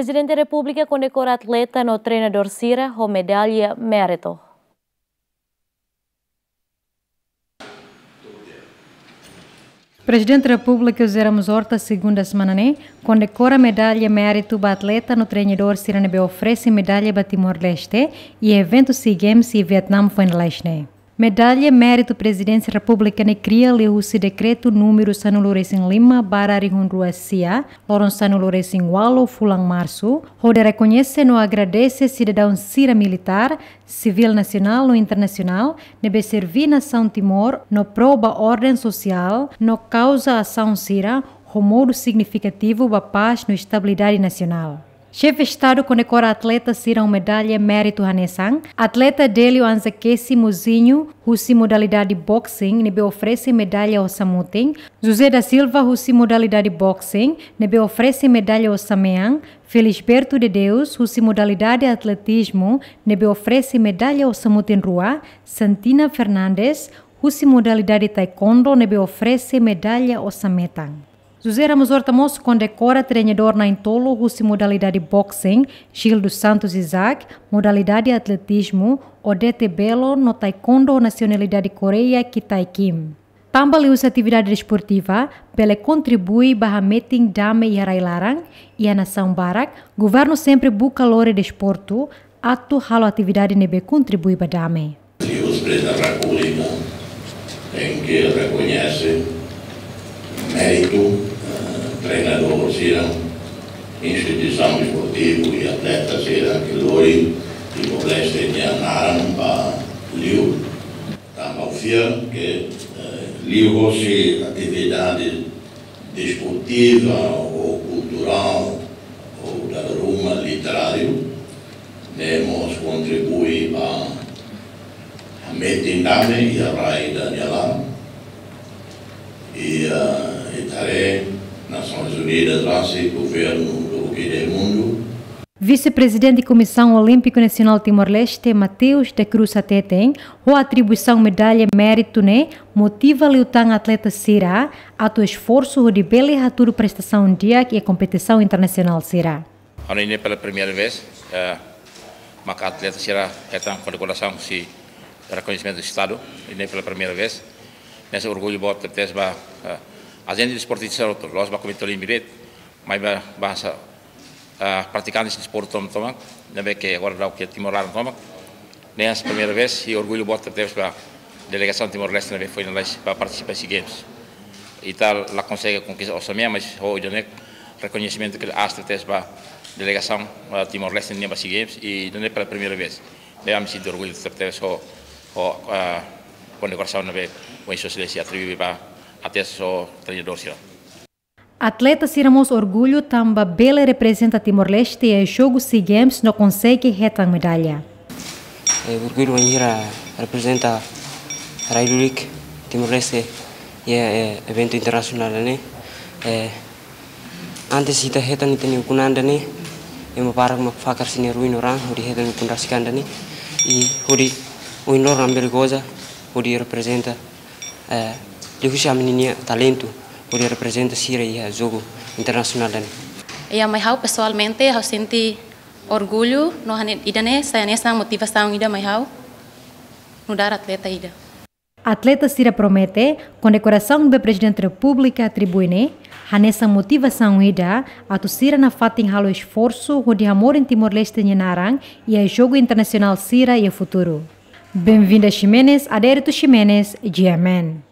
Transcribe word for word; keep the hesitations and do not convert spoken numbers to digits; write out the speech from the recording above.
Prezidente Repúblika kondekora atleta no treinadór sira ho medalla méritu. Prezidente Repúblika José Ramos Horta, segunda semana ne'e, kondekora medalla méritu ba atleta no treinadór sira ne'ebé oferese medalla ba Timor-Leste iha eventu SEA Games iha Vietnam foin lalais ne'e. Medalla méritu Prezidénsia Repúblika ne'e kria liuhusi dekretu númeru sanulu-resin-lima barra rihun rua sia, loron sanulu-resin-ualu fulan Marsu, hodi rekoñese no agradese sidadaun sira militár, sivíl nasionál no internasionál, ne'ebé serví nasaun Timor no pró ba orden sosiál no kauza asaun sira ho modu signifikativu ba pás no estabilidade nasionál. Xefe Estadu kondekora atleta sira ho medalla méritu hanesan, atleta Délio Anza Kesi Mozinho, husi modalidade boxing, ne'ebé oferese medalla osan-mutin, José da Silva, husi modalidade boxing, ne'ebé oferese medalla osan-mean, Felisberto de Deus, husi modalidade atletizmu, ne'ebé oferese medalla osan-mutin rua, Santina Fernandes, husi modalidade taekwondo, ne'ebé oferese medalla osan-metan. José Ramos Horta mós kondekora treinadór na'in-tolu husi modalidade boxing, Gil dos Santos Isaac, modalidade atletizmu, Odete Belo, no taekwondo nasionalidade Koreia, Kitai Kim. Tanba liuhusi atividade desportiva bele kontribui ba hametin dame iha rai-laran, iha nasaun barak, governu sempre buka lori desportu atu halo atividade ne'ebé kontribui ba dame. Liuhusi Prezidente Repúblika tenke rekoñese méritu, eh, treinadór sira, instituisaun desportiva i atleta sira ke lori Timor-Leste nia naran ba li'ur. Tanba ha'u fiar ke, eh, liuhusi atividade desportiva ou kulturál ou dala ruma literáriu, ne'e mós kontribui ba hametin dame iha rai ida nia laran. I, eh, ita haree Nasoins Unidas rasik, governu do que do mundo. Vise-Prezidente Komisaun Olímpiku Nasionál Timor-Leste, Mateus da Cruz hateten, ho atribuisaun medalla méritu ne'e motiva liután atleta sira atu esforsu hodi bele hatudu prestasaun di'ak iha kompetisaun internasionál sira. Agora ne'e pela primeira vez, eh, maka atleta sira hetan kondekorasaun husi rekoñesimentu Estadu, ne'e pela primeira vez. Ne'e sai orgullu boot tebes ba, eh, ajente desportista sira hotu, la'ós ba Komité Olímpiku de'it, maibé ba, ba hanesan, eh, pratikante desportu tomak, ne'ebé ke agora daudaun iha Timor laran tomak. Ne'e sai primeira vez, i orgullu boot tebes ba delegasaun Timor-Leste ne'ebé foin lalais ba partisipa SEA Games. Ita la konsege konkista osan-mean, mas ho ida-ne'e rekoñesimentu ke aas tebes ba delegasaun, eh, Timor-Leste nian ba SEA Games, i ida-ne'e pela primeira vez. Ne'e ami sente orgullu tebes ho, ho, eh, kondekorasaun ne'ebé Sua Exelénsia atribui ba atleta no treinadór sira. Atleta sira mós orgullu tanba bele reprezenta Timor-Leste iha jogu SEA Games no konsege hetan medalla. Eh, orgullu bainhira reprezenta rai lulik Timor-Leste iha, eh, eventu internasionál ne'e. Eh, antes ita hetan ita-nia ukun-an ida-ne'e, ema barak mak fakar sira-nia ruin no raan hodi hetan ukun rasik an ida-ne'e. I hodi ohin loron ami bele goza hodi reprezenta, eh, liuhusi ami-nia talentu hodi reprezenta sira iha jogu internasionál ida-ne'e. Iha mai ha'u pesoalmente, ha'u sente orgullu no hanesan ida-ne'e sai hanesan motivasaun ida mai ha'u nu'udar atleta ida. Atleta sira promete kondekorasaun ne'ebé Prezidente Repúblika atribui ne'e hanesan motivasaun ida atu sira nafatin halo esforsu hodi hamorin Timor-Leste nia naran iha jogu internasionál sira iha futuru. Benvinda Ximenes, Adérito Ximenes, G M N.